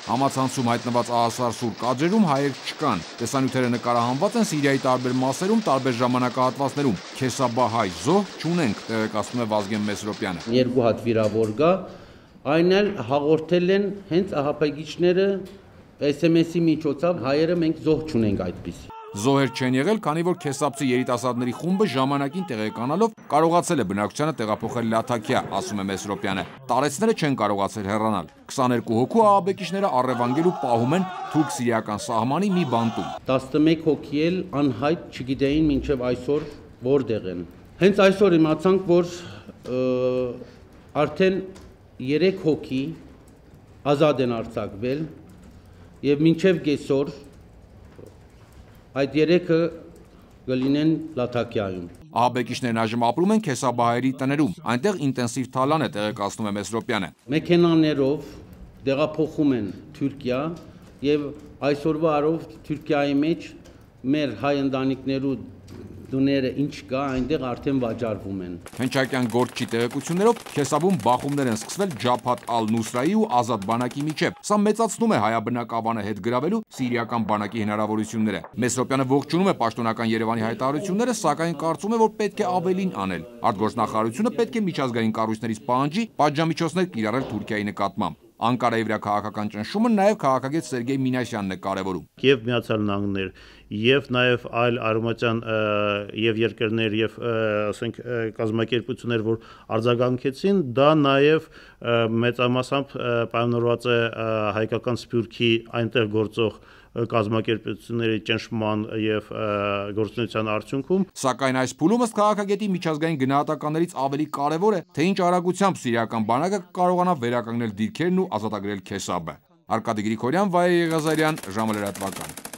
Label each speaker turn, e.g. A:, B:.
A: Համացանցում հայտնված ահասար սուր կադրերում հայեր չկան։ Տեսանյութերը նկարահանված են Սիրիայի տարբեր մասերում, տարբեր ժամանակահատվածներում։ Քեսաբահայ զոհ չունենք, տեղեկացնում է Վազգեն Մեսրոպյանը։
B: Երկու հատ վիրավոր կա, այն էլ հաղորդել են հենց ահապագիչները SMS-ի միջոցով, հայերը մենք զոհ չունենք այդպես։
A: Զոհեր չեն եղել, քանի որ քեսապցի երիտասարդների խումբը ժամանակին տեղեկանալով կարողացել է բնակչությանը տեղափոխել Լաթաքիա, ասում է Մեսրոպյանը։ Տարեցները չեն կարողացել հեռանալ։ 22 հոգու ահաբեկիչները առևանգել ու պահում են թուրք-սիրիական սահմանի մի բանտում։
B: 11 հոգի էլ անհայտ չգիտեին մինչև այսօր որտեղ են։ Հենց այսօր իմացանք, որ արդեն 3 հոգի ազատ են արձակվել եւ մինչև կեսօր այդ 3-ը կլինեն Լաթաքիայում։
A: Ահաբեկիչներն այժմ ապրում են Քեսաբահայերի տներում, այնտեղ ինտենսիվ թալան է, տեղեկացնում է Մեսրոպյանը։
B: Մեքենաներով տեղափոխում են Թուրքիա եւ այսօրվա առով Թուրքիայի մեջ մեր հայ ընտանիքներու դուները ինչ կա, այնտեղ արդեն վաճառվում են։
A: Հնչակյան գործչի տեղեկություններով Քեսաբում բախումներ են սկսվել Ջաբհաթ ալ-Նուսրայի ու Ազատ բանակի միջև։ Սա մեծացնում է հայաբնակ ավանը հետ գրավելու սիրիական բանակի հնարավորությունները։ Մեսրոպյանը ողջունում է պաշտոնական Երևանի հայտարարությունները, սակայն կարծում է, որ պետք է ավելին անել։ Արտգործնախարարությունը պետք է միջազգային կառույցներից պահանջի պատժամիջոցներ կիրառել Թուրքիայի նկատմամբ։ Անկարայի վրա քաղաքական ճնշումը նաև քաղաքագետ Սերգեյ Մինասյանն է կարևորում։
C: Եվ Միացյալ Նահանգներ, եւ նաև այլ արևմտյան եւ երկրներ եւ ասենք կազմակերպություններ, որ արձագանքեցին, դա նաև մեծամասամբ պայմանավորված է հայկական սփյուռքի այնտեղ գործող կազմակերպությունների ճնշման եւ գործունեության արդյունքում։
A: Սակայն այս փուլում ըստ քաղաքագետի միջազգային գնահատականներից ավելի կարևոր է, թե ինչ արագությամբ սիրիական բանակը կարողանա վերականգնել դիրքերն ու ազատագրել Քեսաբը։ Արկադի Գրիգորյան, Վայե Եղազարյան, ժամը լրատվական։